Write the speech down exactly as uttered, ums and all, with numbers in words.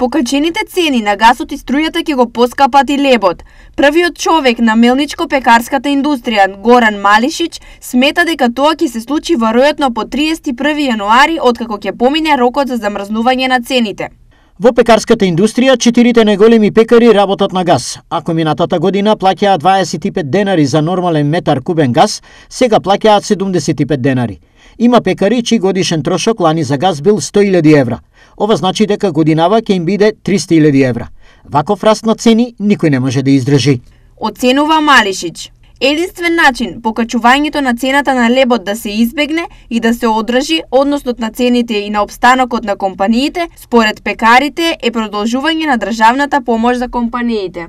покачените цени на гасот и струјата ќе го поскапат и лебот. Првиот човек на мелничко-пекарската индустрија, Горан Малишич, смета дека тоа ќе се случи веројатно по триесет и први јануари, откако ќе помине рокот за замрзнување на цените. Во пекарската индустрија, четирите најголеми пекари работат на газ. Ако минатата година плаќаат дваесет и пет денари за нормален метар кубен газ, сега плаќаат седумдесет и пет денари. Има пекари чиј годишен трошок лани за газ бил сто илјади евра. Ова значи дека годинава ќе им биде триста илјади евра. Ваков раст на цени никој не може да издржи. Оценува Малишич. Единствен начин покачувањето на цената на лебот да се избегне и да се одржи односот на цените и на опстанокот на компаниите, според пекарите, е продолжување на државната помош за компаниите.